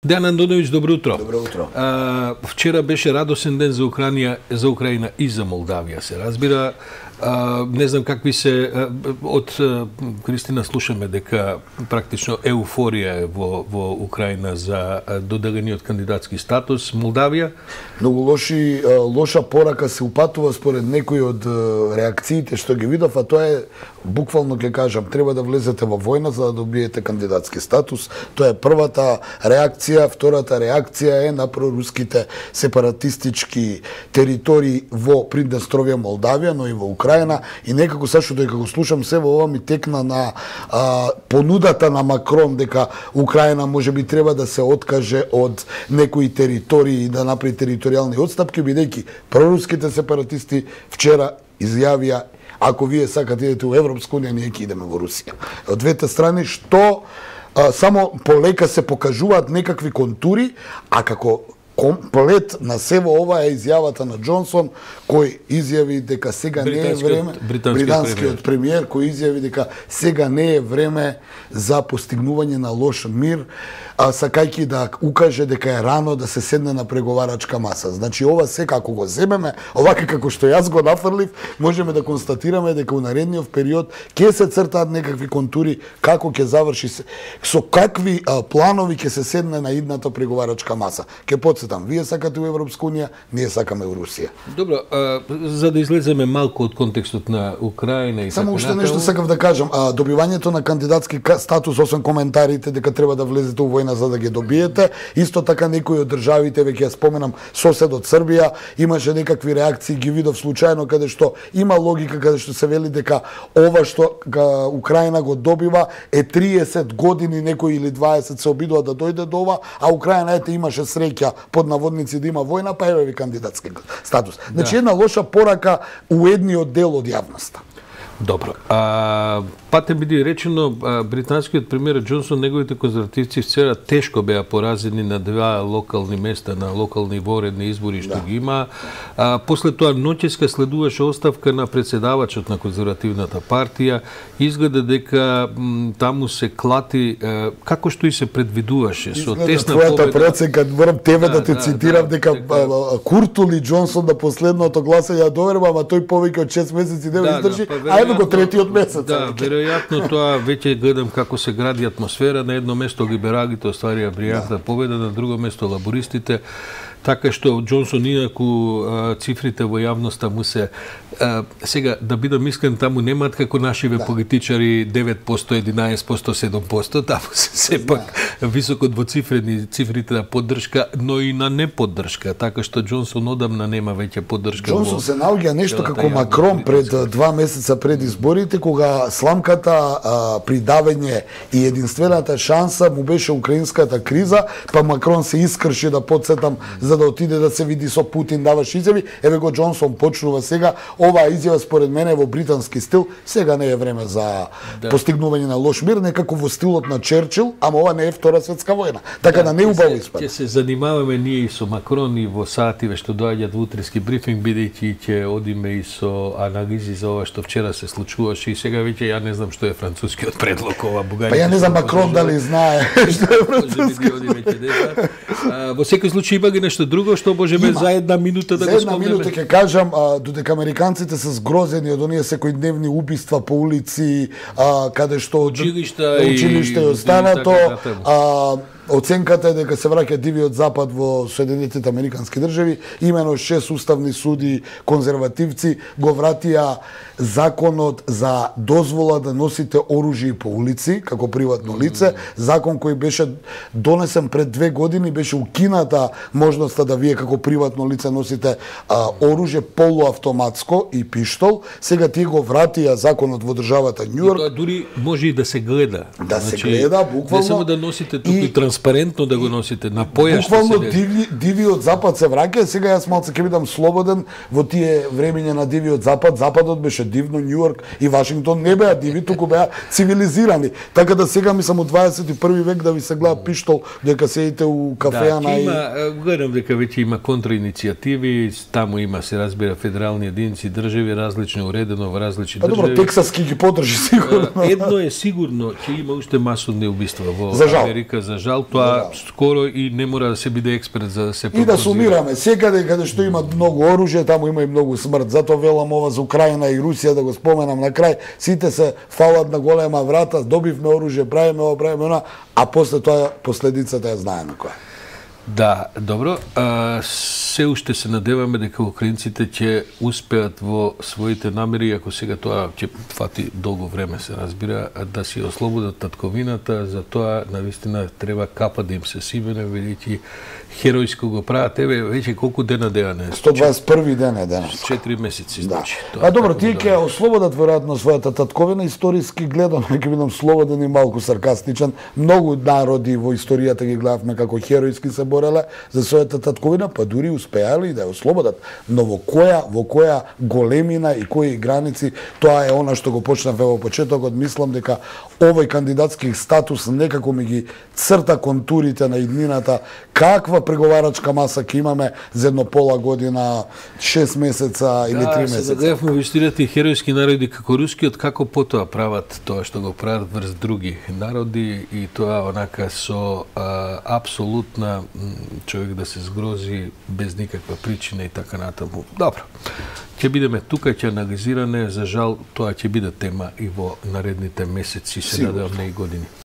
Дејан Андоновиќ, добро утро. Добро утро. Вчера беше радосен ден за Украина и за Молдавија, се разбира. Не знам какви се од Кристина слушаме дека практично еуфорија е во Украина за доделениот кандидатски статус. Молдавија многу лоша порака се упатува според некои од реакциите што ги видов, а тоа е буквално ќе кажам, треба да влезете во војна за да добиете кандидатски статус. Тоа е првата реакција, втората реакција е на проруските сепаратистички територии во Приднестровје, Молдавија, но и во Украина, и некако сашто дека го слушам се во ова ми текна на понудата на Макрон дека Украина можеби треба да се откаже од некои територии и да направи територијални отстапки, бидејќи проруските сепаратисти вчера изјавија: ако вие сакате идете во Европска унија, ние ќе идеме во Русија. Од двете страни што само полека се покажуваат некакви контури, а како комплет на се во ова е изјавата на Џонсон, кој изјави дека сега не е време, британскиот премиер, кој изјави дека сега не е време за постигнување на лош мир, сакајќи да укаже дека е рано да се седне на преговарачка маса. Значи ова се како го земеме, овака како што јас го нафрлив, можеме да констатираме дека у наредниот период ќе се цртаат некакви контури како ќе заврши се, со какви планови ќе се седне на идната преговарачка маса. Ќе подсетам, вие сакате во Европска унија, ние сакаме во Русија. Добро, за да излеземе малку од контекстот на Украина и само уште нешто сакав да кажам, добивањето на кандидатски статус, освен коментарите дека треба да влезете во војна за да ги добиете, исто така некои од државите, веќе ја споменам, соседот Србија, имаше некакви реакции, ги видов случајно, каде што има логика, каде што се вели дека ова што Украина го добива е 30 години, некои или 20 се обидува да дојде до ова, а Украина ете имаше среќа под наводници да има војна, па еве ви кандидатски статус. Значи една лоша порака у едниот дел од јавноста. Добро. Пате биде речено, британскиот премиер Џонсон, неговите конзервативци вчера тешко беа поразени на два локални места, на локални воредни избори што ги има. После тоа ноќеска следуваше оставка на председавачот на конзервативната партија. Изгледа дека таму се клати, како што и се предвидуваше, со тесна победа. Твојата проценка, морам тебе да те цитирам, дека Куртул и Џонсон на последното гласање ја доверба, ама тој повеќе од 6 месеци не издржи, а еве го третиот месец. Да, веројатно тоа веќе гледам како се гради атмосфера. На едно место либералите остварија бријатна победа, на друго место лабористите. Така што Џонсон, иако цифрите во јавноста му се сега, да бидам искрен, таму немаат како нашиве политичари 9%, 11%, 7%, таму се сепак високо двоцифрени цифрите на поддршка, но и на неподдршка, така што Џонсон одамна нема веќе поддршка. Џонсон се наоѓа нешто како Макрон пред 2 месеца пред изборите, кога сламката придавање и единствената шанса му беше украинската криза, па Макрон се искрши, да подсетам, за да отиде да се види со Путин, даваш изјави. Еве го Џонсон почнува сега. Оваа изјава според мене во британски стил, сега не е време за постигнување на лош мир, некако во стилот на Черчил, ама ова не е Втора светска војна. Така да не убаво испада. Ќе се занимаваме ние и со Макрон и во сативе што доаѓаат во утрески брифинг, бидејќи ќе одиме и со анализи за ова што вчера се случуваше, и сега веќе ја не знам што е францускиот предлог, ова Бугарија. Па ја не знам Макрон дали знае што е француски. Во секој случај има ги нешто друго што можеме за една минута да го спомнеме. За една минута ќе кажам, додека американците се згрозени од оние секојдневни убиства по улици, каде што училишта и останато, оценката е дека се враќа дивиот запад во Соединетите Американски држави. Имено 6 уставни суди конзервативци го вратија законот за дозвола да носите оружје по улици како приватно лице, закон кој беше донесен пред 2 години, беше укината можноста да вие како приватно лице носите оружје полуавтоматско и пиштол. Сега тие го вратија законот во државата Њујорк. И тоа дури може и да се гледа. Да се гледа, буквално. Не само да носите туку и транспарентно да го носите на поја што буквално дивиот запад се враќа. Сега јас малце ќе бидам слободен во тие времиња на дивиот запад. Западот беше дивно, Њујорк и Вашингтон не беа диви, туку беа цивилизирани. Така да сега мислам у 21 век да ви се гледа пиштол дека седите у кафеана и гледам дека веќе има контраиницијативи, таму има, се разбира, федерални единици, држави, различно уредено во различни држави. Добро, Тексас ги поддржи сигурно. Едно е сигурно, ќе има уште масовни убиства во Америка, за жал. тоа скоро и не мора да се биде експерт за да се прогнозира. И да сумираме, секаде каде што има многу оружје, таму има и многу смрт. Затоа велам ова за Украина и Русија да го споменам на крај. Сите се фалат на голема врата, добивме оружје, правиме ова, правиме она, а после тоа последицата ја знаеме која. Да, добро. Се уште се надеваме дека украинците ќе успеат во своите намери, ако сега тоа ќе фати долго време, се разбира, да си ослободат татковината, за тоа навистина треба капа да им се симене, бидејќи херојско го прават. Еве, веќе колку дена не? 121 ден е денес. 4 месеци, значи. Да. Добро, тие ќе ослободат веројатно својата татковина, историски гледано, ќе бидам слободен и малку саркастичен. Многу народи во историјата ги гледавме како херојски се бореле за својата татковина, па дури успеале и да ја ослободат. Но во која големина и кои граници, тоа е она што го почнавме во почетокот. Мислам дека овој кандидатски статус некако ми ги црта контурите на иднината, каква преговарачка маса ќе имаме за едно пола година, 6 месеца или 3 месеца. Да, се гледавме во историјата и херојски народи како рускиот, како потоа прават тоа што го прават врз други народи, и тоа онака со апсолутна човек да се згрози без никаква причина и така натаму. Добро. Ќе бидеме тука, ќе анализиране, за жал тоа ќе биде тема и во наредните месеци, се надевам, не и години.